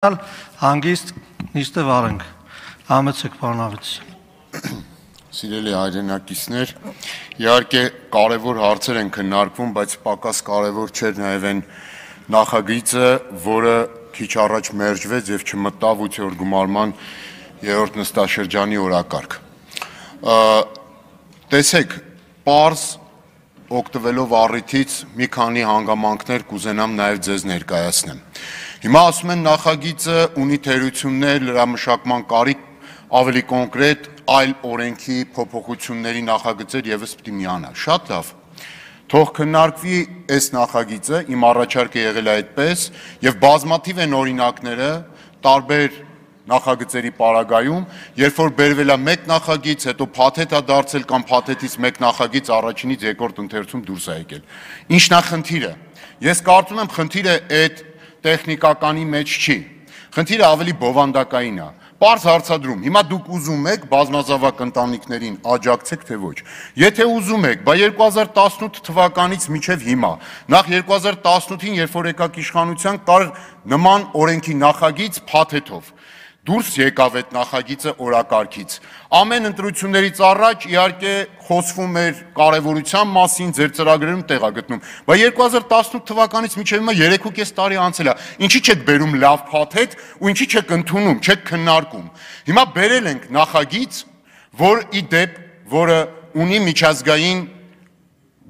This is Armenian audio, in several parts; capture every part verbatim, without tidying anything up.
Հանգիստ նիստը վարենք, համեցեք պարոնավետություն։ Սիրելի հայրենակիցներ, իհարկե կարևոր հարցեր են քննարկվում, բայց պակաս կարևոր չէր նաև այն նախագիծը, որը քիչ առաջ մերժվեց եւ չմտավ ութերորդ գումարման երրորդ նստաշրջանի օրակարգ։ Տեսեք, պարզ օգտվելով առիթից մի քանի հանգամանքներ կուզենամ նաև ձեզ ներկայացնեմ։ Հիմա ասում են նախագիծը ունի թերություններ, լրամշակման կարիք, ավելի կոնկրետ այլ օրենքի փոփոխությունների նախագծեր եւս պիտի միանա։ Շատ լավ։ Թող քննարկվի այս նախագիծը, իմ առաջարկը եղել է այդպես, եւ բազմաթիվ են օրինակները տարբեր նախագծերի պարագայում, երբ որ բերվել է մեկ նախագիծ, հետո փաթեթ է դարձել կամ փաթեթից մեկ նախագիծ առաջինից երկրորդ ընթերցում դուրս է եկել։ Ինչն է խնդիրը։ Ես կարծում եմ խնդիրը այդ տեխնիկականի մեջ չի։ Խնդիրը ավելի բովանդակային է։ Պարզ հարցադրում։ Հիմա դուք ուզում եք բազմազավակ ընտանիքներին աջակցեք, թե ոչ։ Եթե ուզում եք, բա երկու հազար տասնութ թվականից մինչև հիմա, նախ երկու հազար տասնութին, երբ որ եկաք իշխանության, կար նման օրենքի նախագիծ փաթեթով։ Դուրս եկավ այդ նախագիծը օրակարգից։ Ամեն ընտրություններից առաջ իհարկե խոսվում էր կարևորության մասին, ձեր ծրագրերում տեղ է գտնում։ Բայց երկու հազար տասնութ թվականից մինչև հիմա երեք ու կես տարի անցել է։ Ինչի՞ չեք բերում լավ փաթեթ ու ինչի՞ չեք ընդունում, չեք քննարկում։ Հիմա բերել ենք նախագիծ, որ ի դեպ, որը ունի միջազգային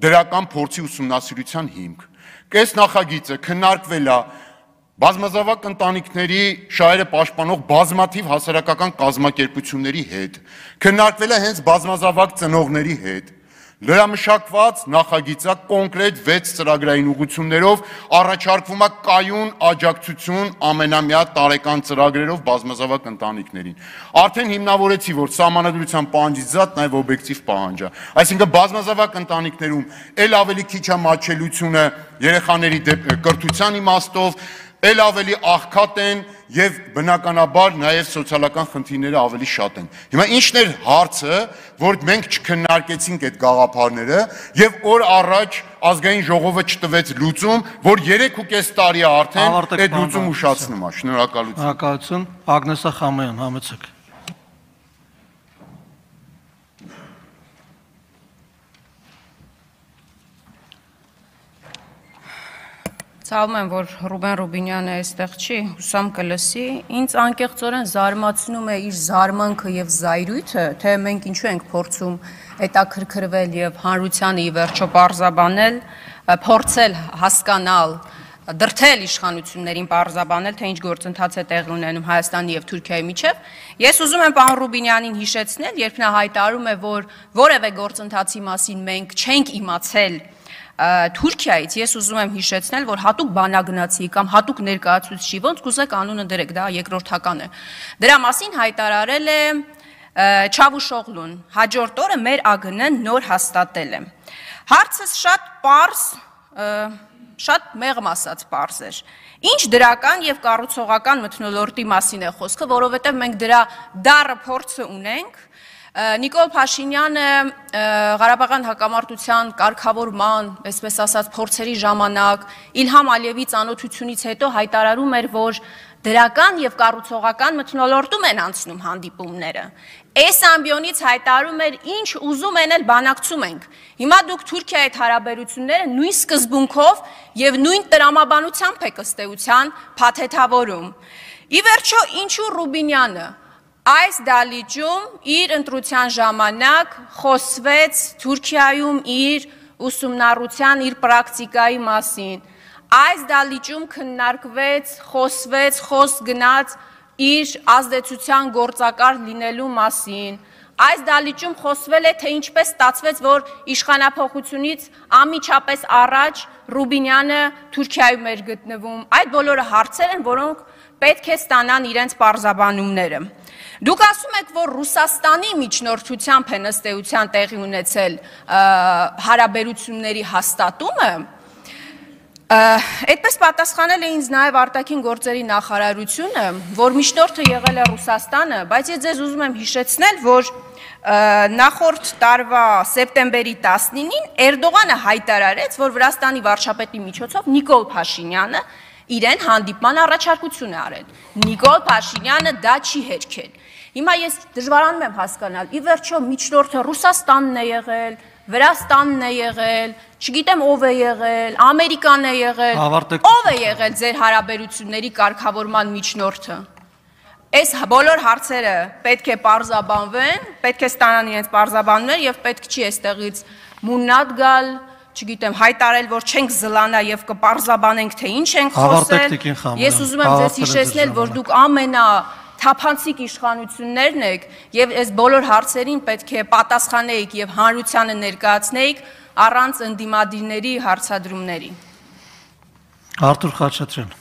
դրական փորձի ուսումնասիրության հիմք։ Կես նախագիծը քննարկվել է բազմազավակ ընտանիքների շահերը պաշտպանող բազմաթիվ հասարակական կազմակերպությունների հետ, քննարկվել է հենց բազմազավակ ծնողների հետ, լրամշակված նախագիծը կոնկրետ վեց ծրագրային ուղղություններով առաջարկվում է կայուն աջակցություն ամենամյա տարեկան ծրագրերով բազմազավակ ընտանիքներին։ Արդեն հիմնավորեցի, որ սահմանադրության պահանջից զատ նաև օբյեկտիվ պահանջ է։ Այսինքն բազմազավակ ընտանիքներում ել ավելի քիչ է մատչելիությունը երեխաների կրթության իմաստով, ել ավելի աղքատ են եւ բնականաբար նաեւ սոցիալական խնդիրները ավելի շատ են։ Հիմա ինչն էր հարցը, որ մենք չքննարկեցինք այդ գաղափարները եւ օր առաջ ազգային ժողովը չտվեց լուծում, որ երեք ու կես տարի է արդեն այդ լուծում ուշացնում է։ Շնորհակալություն։ Շնորհակալություն, Ագնեսա Խամոյան, համեցեք։ Ցավում եմ, որ Ռուբեն Ռուբինյանը այստեղ չի, հուսամ կլսի, ինձ անկեղծորեն զարմացնում է իր զարմանքը եւ զայրույթը, թե մենք ինչու ենք փորձում հետաքրքրվել եւ հանրությանը ի վերջո պարզաբանել, փորձել հասկանալ, դրթել իշխանություններին պարզաբանել, թե ինչ գործընթաց է տեղի ունենում Հայաստանի եւ Թուրքիայի միջեւ։ Ես ուզում եմ պարոն Ռուբինյանին հիշեցնել, երբ նա հայտարարում է, որ որևէ գործընթացի մասին մենք չենք իմացել Թուրքիայից, ես ուզում եմ հիշեցնել, որ հատուկ բանագնացի կամ հատուկ ներկայացուցիչի, ոնց կուզեք անունը դրեք, դա երկրորդական է։ Դրա մասին հայտարարել է Չավուշօղլուն, հաջորդ օրը մեր ԱԳՆ-ն նոր հաստատել է։ Հարցս շատ պարզ, շատ մեղմ ասած պարզ էր։ Ինչ դրական եւ կառուցողական մթնոլորտի մասին է խոսքը, որովհետեւ մենք դրա դառը փորձը ունենք։ Նիկոլ Փաշինյանը Ղարաբաղյան հակամարտության կարգավորման, այսպես ասած, փորձերի ժամանակ Իլհամ Ալիևի ծանոթությունից հետո հայտարարում էր, որ դրական եւ կառուցողական մթնոլորտում են անցնում հանդիպումները։ Այս ամբիոնից հայտարարում էր, ինչ ուզում են էլ բանակցում ենք։ Հիմա դուք Թուրքիայի հետ հարաբերությունները նույն սկզբունքով եւ նույն տրամաբանությամբ եք ըստ էության փաթեթավորում։ Ի վերջո, ինչու Ռուբինյանը այս դալիճում իր ընտրության ժամանակ խոսվեց Թուրքիայում իր ուսումնառության, իր պրակտիկայի մասին։ Այս դալիճում քննարկվեց, խոսվեց, խոսք գնաց իր ազդեցության գործակար լինելու մասին։ Այս դալիճում խոսվել է, թե ինչպես ստացվեց, որ իշխանափոխությունից անմիջապես առաջ Ռուբինյանը Թուրքիայում էր գտնվում։ Այդ բոլորը հարցեր են, որոնք պետք է ստանան իրենց պարզաբանումները։ Դուք ասում եք, որ Ռուսաստանի միջնորդությամբ են ըստ էության տեղի ունեցել հարաբերությունների հաստատումը, այդպես պատասխանել է ինձ նաև արտաքին գործերի նախարարությունը, որ միջնորդը եղել է Ռուսաստանը, բայց ես ձեզ ուզում եմ հիշեցնել, որ նախորդ տարվա սեպտեմբերի տասնինին Էրդողանը հայտարարեց, որ Վրաստանի վարչապետի միջոցով Նիկոլ Փաշինյանը իրեն հանդիպման առաջարկություն է արել։ Նիկոլ Փաշինյանը դա չի հերքել։ Հիմա ես դժվարանում եմ հասկանալ, ի վերջո միջնորդը Ռուսաստանն է եղել, Վրաստանն է եղել, չգիտեմ ով է եղել, Ամերիկան է եղել, ով է եղել ձեր հարաբերությունների կարգավորման միջնորդը։ Այս բոլոր հարցերը պետք է պարզաբանվեն, պետք է ստանան իրենց պարզաբանումներ եւ պետք չի այստեղից մուննատ գալ, չգիտեմ, հայտարել, որ չենք զլանա եւ կպարզաբանենք, թե ինչ ենք խոսել։ Ես ուզում եմ ձեզ հիշեցնել, որ դուք ամենա թափանցիկ իշխանություններն եք եւ այս բոլոր հարցերին պետք է պատասխանեիք եւ հանրությանը ներկայացնեիք առանց ընդդիմադիրների հարցադրումների։ Արթուր Խաչատրյան